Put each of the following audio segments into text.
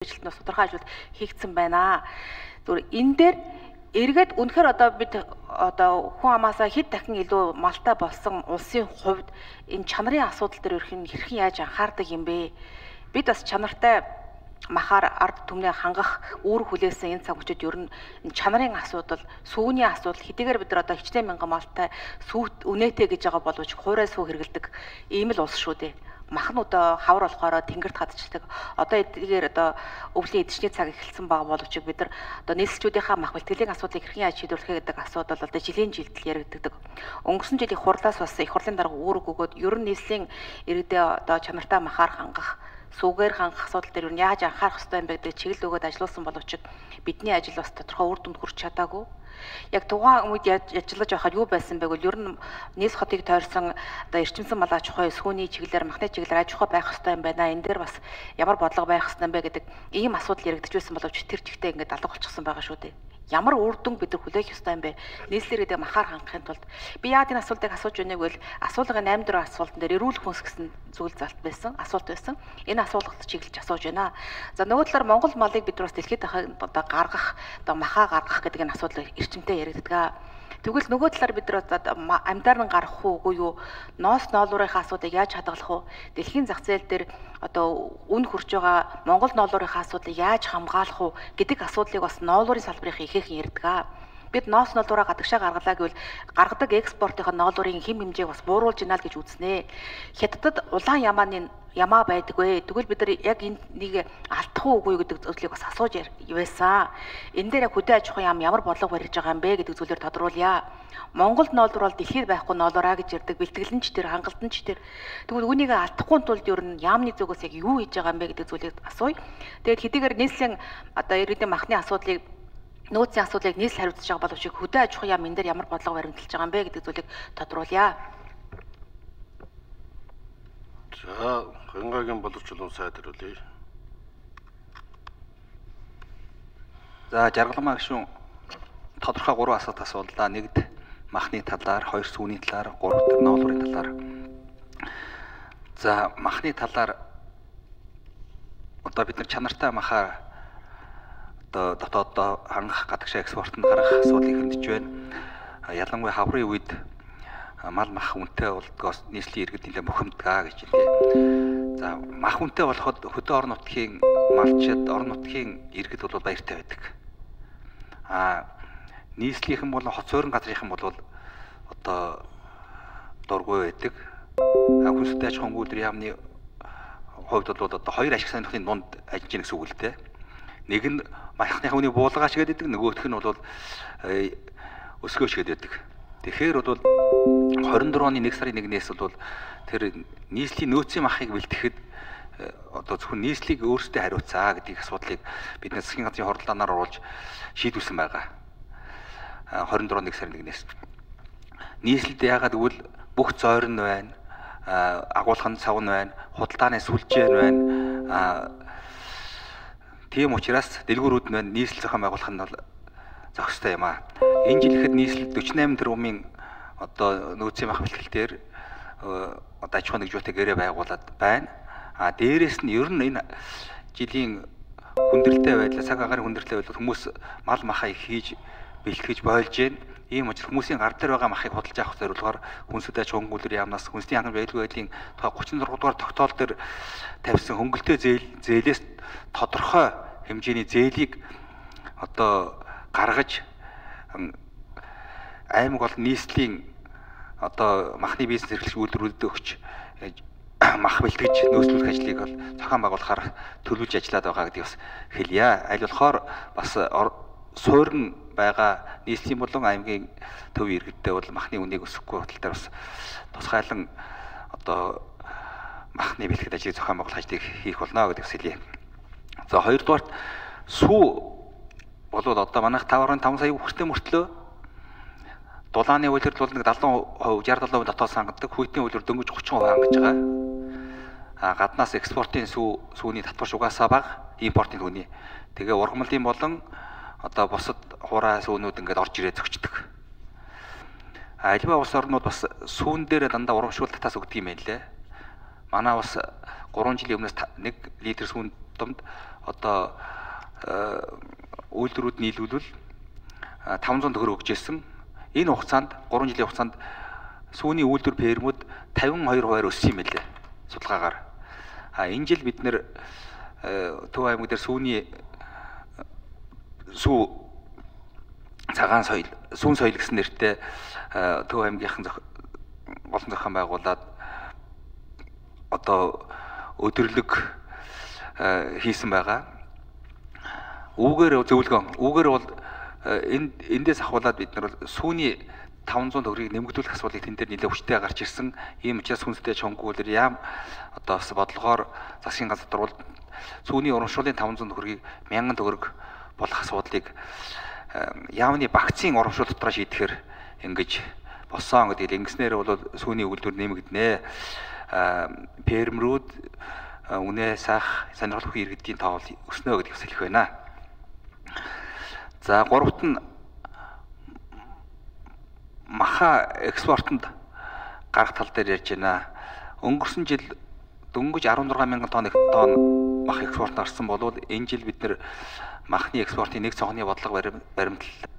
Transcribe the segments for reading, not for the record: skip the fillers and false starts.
ажилтнаас тодорхой ажил хийгдсэн байна. Зүгээр энэ дээр эргээд үнэхээр одоо бид одоо хүн амаасаа хэд дахин илүү малтай болсон улсын хувьд энэ чанарын асуудал дээр хэрхэн яаж анхаардаг юм бэ? Бид бас чанартай махаар ард түмнээ хангах үүрэг хүлээсэн энэ цаг үеэд ер нь чанарын асуудал, сүүний асуудал хэдийгээр бид нар одоо хичнээн мянган малтай сүүт үнэтэй гэж байгаа боловч хуурай сүү хэрэгэлдэг ийм л улс шүү дээ. Махнуудаа хавар болохоор тэнгэрт хадчихдаг. Одоо эдгээр одоо өвлийн эдчний цаг эхэлсэн байгаа боловч бид нар одоо нийслэлчүүдийнхаа мах бэлтгэлийн асуудлыг хэрхэн яаж шийдвэрлэх гэдэг асуудал одоо жилийн жилдэл яригддаг. Өнгөрсөн жилийн хурлаас бас их хурлын дарга үүрэг өгөөд ер нь нийслэлийн иргэдээ одоо чанартай махаар хангах, сүүгээр хангах асуудал дээр юу яаж анхаарах ёстой юм бэ гэдэг чиглэл өгөөд ажилласан боловч бидний ажил бас тодорхой үр дүнд хүрч чадаагүй. Яг тухайн үед ажиллаж байхад юу байсан бэ гэвэл ер нь нийс хотыг тойрсон одоо эрчимсэн мал аж ахуй сүүний чиглэлээр махны чиглэлээр аж ахуй байх ёстой юм байна. Энэ дээр бас ямар бодлого байх ёстой юм бэ гэдэг ийм асуудал яригдж байсан боловч тэр чигтээ ингээд алга болчихсон байгаа шүү дээ. Ямар үр дүн бид нар хүлээх ёстой юм бэ? Нийслэлэрээ махаар хангахын тулд би яагаад энэ асуултыг асууж байна вэ гэвэл асуулгын 8 дөрөв асуултан дээр эрүүл хүнс гэсэн зүйл залт байсан, асуулт байсан. Энэ асуулгад чиглэж асууж байна. За нөгөө талаар Монгол малыг бид нар бас дэлхийд одоо гаргах, одоо махаа гаргах гэдэг энэ асуудал эрчимтэй яригддаг. Тэгвэл нөгөө талаар бид нар амьдаар нь гарах уугүй юу? Ноос ноолуурынхаа асуудыг яаж хадгалах вэ? Дэлхийн зах зээл дээр одоо үн хүрч байгаа Монгол ноолуурынхаа асуудлыг яаж хамгаалах вэ гэдэг асуудлыг бас ноолуурын салбарын ихээхэн ярьдаг. Бид ноос ноолуураа гадагшаа гаргалаа гэвэл гаргадаг экспортын ноолуурын хэм хэмжээг бас бууруулж ийна л гэж үзнэ. Хятадд улаан ямаа байдаггүй. Тэгвэл бид нар яг энийг алдах уугүй гэдэг зүйлийг бас асууж байсан. Энэ дээр яг хөдөө аж ахуйн яам ямар бодлого барьж байгаа юм бэ гэдэг зүйлээр тодруулъя. Монголд ноолуур бол дэлхийд байхгүй ноолуураа гэж ярьдаг. Бэлтгэлэнч тэр, хангалтанч тэр. Тэгвэл үүнийг алдахгүй тулд ер нь яамны зүгээс яг юу хийж байгаа юм бэ гэдэг зүйлийг асууя. Тэгээд хэдийгээр нийслэлийн одоо иргэдийн махны асуудлыг нөөцийн асуудлыг нийслэл хариуцж байгаа боловч хөдөө аж ахуйн яам энэ дээр ямар бодлого баримталж байгаа юм бэ гэдэг зүйлийг тодруулъя. За, хангагийн боловчлон сайд хариулъя. За, жаргалмаа гишүүн тодорхой 3 асуулт асуулаа. Нэгд махны талаар, 2 сүүний талаар, 3 дахь ноолуурын талаар. За, махны талаар одоо бид нар чанартай махаар одоо дотооддоо хангах, гадагшаа экспортод гаргах асуудлыг хөндөж байна. Ялангуяа хаврын үед мал мах үнэтэй болдгоос нийслэлийн иргэд нэлээд бухимдгаа гэж хэлээ. За, мах үнэтэй болоход хөдөө орон нутгийн малчид, орон нутгийн иргэд бол баяртай байдаг. Нийслэлийнхэн бол хот суурин газрынхан бол одоо дургүй байдаг. Хүнстэй аж ахуйн үйлдвэрийн яамны хувьд бол одоо 2 ашиг сонирхлын дунд ажиллаж байгаа гэсэн үг л дээ. Нэг нь махны хүний буулгаач гэдэг, нөгөөх нь бол өсгөөч гэдэг. Тэгэхээр бол 24 оны 1 сарын 1-ээс бол тэр нийслэлийн нөөцийн махыг бэлтгэхэд одоо зөвхөн нийслэлийг өөрсдөө хариуцаа гэдэг асуудлыг бид засгийн газрын хуралдаанаар оруулж шийдвүүлсэн байгаа. 24 оны 1 сарын 1-ээс. Нийслэлд яагаад гэвэл бүх зойрон байна, агуулгын цавн байна, худалдааны сүлжээ байна. Тийм учраас дэлгүүрүүд нь нийслэл зохион байгуулах нь бол зохистой юм аа. Энэ жил ихэд нийслэл 48 тэрбумын одоо нөөцийн мах бэлтгэлээр одоо аж ахуйн нэгжүүтэй гэрээ байгуулад байна. Дээрээс нь ер нь энэ жилийн хүндрэлтэй байдлаа, цаг агаарын хүндрэлтэй байдлаа хүмүүс мал махаа их хийж бэлтгэж бойлж байна. Ийм учраас хүмүүсийн гар дээр байгаа махыг худалдаж авах зорилгоор хүнсэд аж ахуйн үйлдвэрийн яамнаас хүнсний хангамж аюулгүй байдлын тухай 36 дугаар тогтоол дээр тавьсан хөнгөлтэй зээлээс тодорхой хэмжээний зээлийг одоо гаргаж аймаг болон нийслэлийн одоо махны бизнес эрхлэгч үйлдвэрүүдэд өгч мах бэлтгэж нөөцлүүлэх ажлыг бол зохион байгуулахаар төлөвлөж ажиллаад байгаа гэдгийг бас хэлье. Аль болохоор бас суурин байгаа нийслэлийн болон аймгийн төв иргэдтэй бол махны үнийг өсөхгүй тал дээр бас тусгайлан одоо махны бэлтгэл ажлыг зохион байгуулах ажлыг хийх болно гэдгийг хэлье. За, хоёрдугаарт сүү болоод одоо манайх 5.5 сая хүртээ мөртлөө дулааны үйлдвэр бол нэг 70%, 60-70% дотоод сангадаг, хүйтийн үйлдвэр дөнгөж 30% хангаж байгаа. Гаднаас экспортын сүүний татварч угаасаа бага, импортын түүний. Тэгээ ургамлын болон одоо бусад хураа сүүнүүд ингээд орж ирээ зөгчдөг. Альва улс орнууд бас сүүн дээр дандаа урамшуул татаас өгдөг юм байна лээ. Манай бас 3 жилийн өмнөөс 1 литр сүүн домд одоо үйлдвэрүүд нийлүүлвэл 500 төгрөг өгчээсэн. Энэ хугацаанд 3 жилийн хугацаанд сүүний үйлдвэр фермүүд 52% өссөн юм лээ. Судалгаагаар. Энэ жил бид нэр Төв аймаг дээр сүүний цагаан соёл, сүүн соёл гэсэн нэртэй Төв аймгийнхан олон зохион байгуулад одоо өдөрлөг хийсэн байгаа. Үүгээр бол эндээс ахуулаад бид нар сүүний 500 төгрөгийг нэмэгдүүлэх асуудлыг тэн дээр нэлээд хүчтэй гарч ирсэн. Ийм учраас хүнстэй чонгуулэр яам одоо бас бодлогоор засгийн газар дөрвөл сүүний урамшууллын 500 төгрөгийг 1000 төгрөг болох асуудлыг яамны багцын урамшуул дотроо шийдэхээр ингэж болсон гэдэг. Ингэснээр бол сүүний үйлдвэр нэмэгдэнэ. Фермерүүд үнэ сах сонирхол өгөх иргэдийн тоол өснө гэдгийг хэлэх байна. За гуравт нь маха экспортод гарах тал дээр ярьж байна. Өнгөрсөн жил дөнгөж 16,000 тонн мах экспорт гарсан болвол энэ жил бид нэр махны экспортын нэг цонхны бодлого баримтлалаа.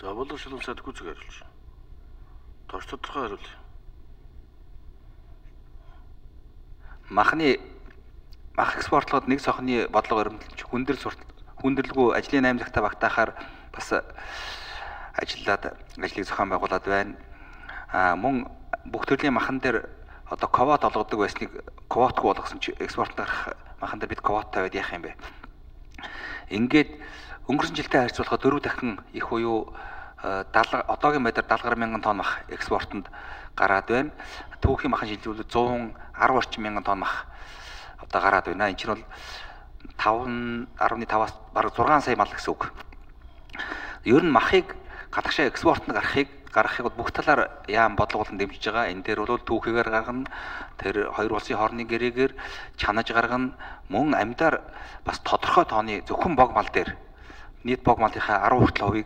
За болов шилэн сайд гүцэг хариулж. Товч тодорхой хариул. Мах экспортлоход нэг цонхны бодлого баримталж хүндрэлгүй ажлын 8 цагтаа багтаахаар бас ажлыг зохион байгуулад байна. Мөн бүх төрлийн махан дээр одоо квот олгодог байсныг квотгүй болгосон чи экспортод гарах махан дээр бид квот тавиад яах юм бэ? Ингээд өнгөрсөн жилтэй харьцуулахад 4 дахин их буюу одоогийн байдлаар 70,000 тонн мах экспортод гараад байна. Түүхийн махан шилжүүлэлт 110 орчим мянган тонн мах одоо гараад байна. Энэ чинь бол 5.5-аас бараг 6 сая мал гэсэн үг. Ер нь махыг гадагшаа экспортод гаргахыг бүх талаар яам бодлого болон дэмжиж байгаа. Энэ дээр бол түүхийгээр гаргана, тэр хоёр улсын хоорондын гэрээгээр чанаж гаргана, мөн амьдаар бас тодорхой тооны зөвхөн бог мал дээр нийт бог малынхаа 10%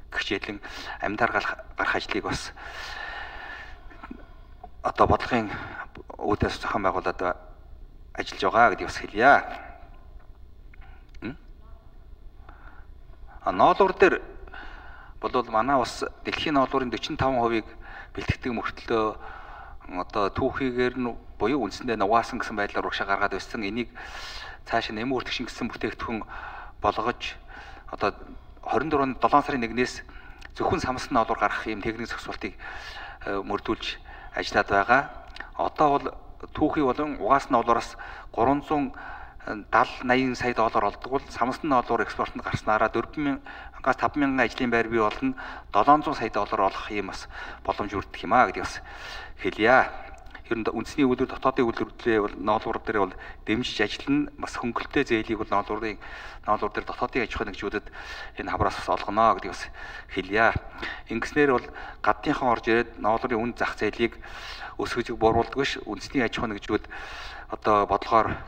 гихжээлэн амьдаар гарах ажлыг бас одоо бодлогын үүдээс зохион байгуулад ажиллаж байгаа гэдгийг бас хэлье. Ноолуур дээр бол манай бас дэлхийн ноолуурын 45%-ийг бэлтгэдэг мөртлөө одоо түүхийгээр нь буюу үндсэндээ нугаасан гэсэн байдлаар урагшаа гаргаад байсан. Энийг цаашаа нэмэн үртгшин гэсэн бүтээгдэхүүн болгож одоо 24-нд 7 сарын 1-ээс зөвхөн самсан ноолуур гарах юм техник зохицуултыг мөрдүүлж ажиллаад байгаа. Одоо бол түүхий болон угаасан ноолуураас 370-80 сая доллар олдог бол самсан ноолуур экспортод гарснараа 4,000-аас 5,000 ажлын байр бий болно, 700 сая доллар олох юм бас боломж өрдөх юм аа гэдгийг бас хэлье. Ер нь үндэсний үйлдвэр дотоодын үйлдвэрлэлээ бол ноолуур дээр бол дэмжиж ажиллана. Бас хөнгөлөлттэй зээлийг бол ноолуур дээр дотоодын аж ахуйн нэгжүүдэд энэ хавраас бас олгоно гэдгийг бас хэлье. Ингэснээр бол гадныхан орж ирээд ноолуурын үн зах зээлийг өсгөж бууруулдаг биш. Үндэсний аж ахуйн нэгжүүд одоо бодлогоор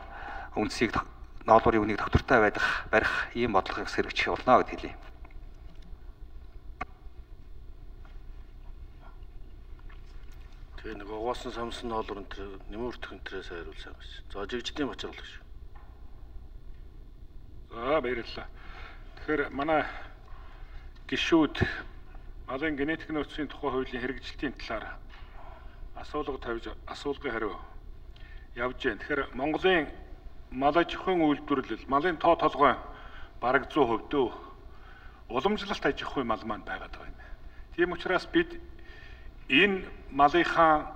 үндсийг ноолуурын үнийг доктортой барих ийм бодлогыг хэрэгжих болно гэж хэлье. Тэгээ нэг угаасан самсан ноолуурын тэр нэмэн үртгэн тэрээс хариулсан юм шиг. За жигжидийн бачаар болгож. За баярлалаа. Тэгэхээр манай гишүүд малын генетик нөөцийн тухай хуулийн хэрэгжилтийн талаар асуулга тавьж асуулгын хариу явж байна. Тэгэхээр Монголын мал аж ахуйн үйлдвэрлэл, малын тоо толгой бараг 100% дөө уламжлалт аж ахуйн мал маань байгаад байна. Тийм учраас бид энэ малынхаа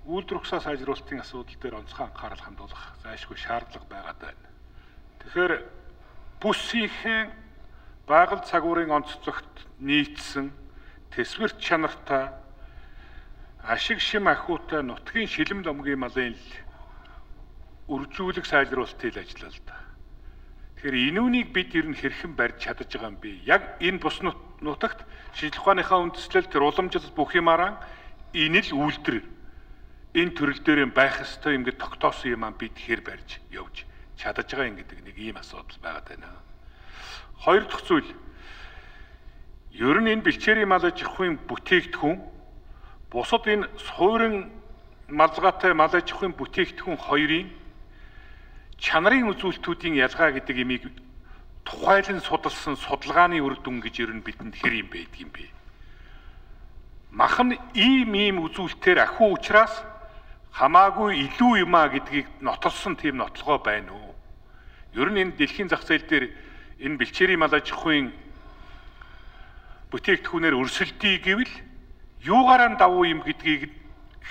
үйлдвэр ухсаа сайжруулалтын асуудал дээр онцгой анхаарал хандуулах зайлшгүй шаардлага байгаад байна. Тэгэхээр бүсийнхээ байгаль цагуурын онцлогт нийцсэн тэсвэрт чанартай ашиг шим ахуйтай нутгийн шилэм ломгийн малын үржүүлэх сайжруулалтыг ажиллалаа. Тэгэхээр энүүнийг бид ер нь хэрхэн барьж чадаж байгаа юм бэ? Яг энэ бус нутагт шинжлэх ухааныхаа үндэслэл тэр уламжлал бүх юмараа энэ л үйлдвэр энэ төрөл дээр байх ёстой юм гэж тогтоосон юм аа бид хэр барьж явж чадаж байгаа юм гэдэг нэг ийм асуудал байгаад байна. Хоёр дахь зүйл ер нь энэ бэлчээрийн мал аж ахуйн бүтээгдэхүүн бусад энэ суурин малгайтай мал аж ахуйн бүтээгдэхүүн хоёрын чанарын үзүүлэлтүүдийн ялгаа гэдэг имийг тухайлан судалсан судалгааны үр дүн гэж ер нь бидэнд хэр юм байдаг юм бэ? Махан ийм үзүүлэлтээр ахиу учраас хамаагүй илүү юм а гэдгийг нотолсон тийм нотлогоо байна уу? Ер нь энэ дэлхийн зах зээл дээр энэ бэлчээрийн мал аж ахуйн бүтээгдэхүүнээр өрсөлдөе гэвэл юугаараа давуу юм гэдгийг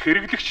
хэрэглэгч